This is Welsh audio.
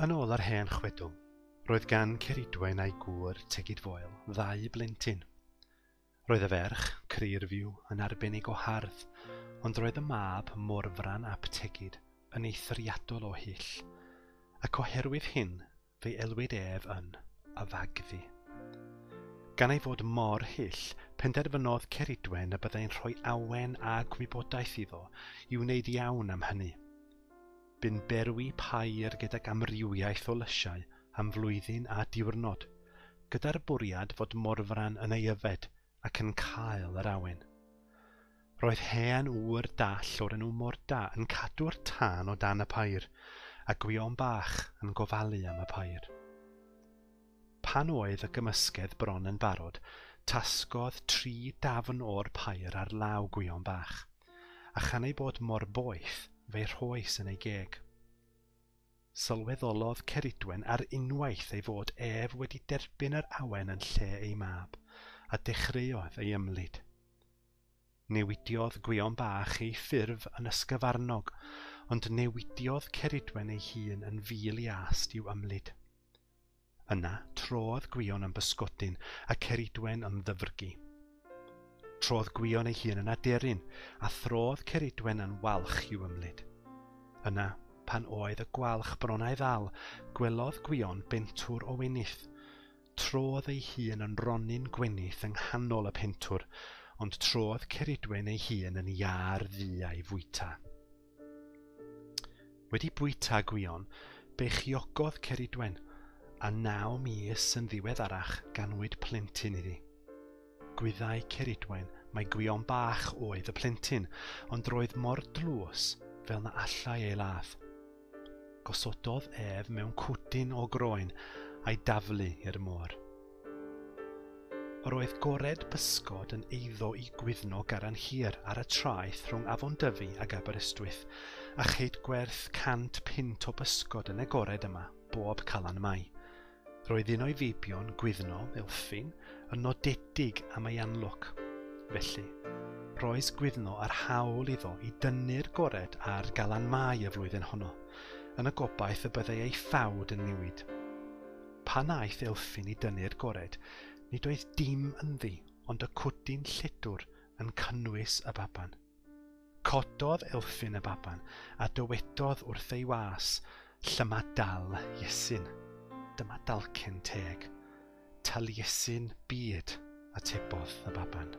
Yn ôl yr hen chwedl, roedd gan Ceridwen a'i gŵr Tegid Foel ddau blentyn. Roedd y ferch, Creirfyw, yn arbennig o hardd, ond roedd y mab, Morfran ap Tegid, yn eithriadol o hyll, ac oherwydd hyn fe'i elwid ef yn y Fagddu. Gan ei fod mor hyll, penderfynodd Ceridwen y byddai'n rhoi awen a gwybodaeth iddo i wneud iawn am hynny. Bu'n berwi pair gydag amrywiaeth o lysiau am flwyddyn a diwrnod, gyda'r bwriad fod Morfran yn ei yfed ac yn cael yr awen. Roedd hen ŵr dall o'r enw Morda yn cadw'r tân o dan y pair, a Gwion Bach yn gofalu am y pair. Pan oedd y gymysgedd bron yn barod, tasgodd tri dafn o'r pair ar law Gwion Bach, a chan ei bod mor boeth, fe'i rhoes yn ei geg. Sylweddolodd Ceridwen ar unwaith ei fod ef wedi derbyn yr awen yn lle ei mab, a dechreuodd ei ymlid. Newidiodd Gwion Bach ei ffurf yn ysgyfarnog, ond newidiodd Ceridwen ei hun yn fil iast i'w ymlid. Yna, trodd Gwion yn bysgodyn a Ceridwen yn ddyfrgi. Trodd Gwion ei hun yn aderyn, a throdd Ceridwen yn walch i'w ymlid. Yna, pan oedd y gwalch bron a'i ddal, gwelodd Gwion bentwr o wenith. Trodd ei hun yn ronyn gwenith yng nghanol y pentwr, ond trodd Ceridwen ei hun yn iâr ddu a'i fwyta. Wedi bwyta Gwion, beichiogodd Ceridwen, a naw mis yn ddiweddarach ganwyd plentyn iddi. Gwyddai Ceridwen mai Gwion bach oedd y plentyn, ond roedd mor dlws fel na allai ei ladd. Gosododd ef mewn cwdyn o groen a'i daflu i'r môr. Yr oedd gored bysgod yn eiddo i Gwyddno Garanhir ar y traeth rhwng Afon Dyfi ac Aberystwyth, a cheid gwerth 100 punt o bysgod yn y gored yma bob Calan Mai. Roedd un o'i feibion, Gwyddno, Elffin, yn nodedig am ei anlwc. Felly, rhoes Gwyddno yr hawl iddo i dynnu'r gored ar Galan Mai y flwyddyn honno, yn y gobaith y byddai ei ffawd yn newid. Pan aeth Elffin i dynnu'r gored, nid oedd dim ynddi ond y cwdyn lledwr yn cynnwys y baban. Cododd Elffin y baban a dywedodd wrth ei was, Llyma dal Iesin. Dyma dalcen teg. Taliesin byd, atebodd y baban.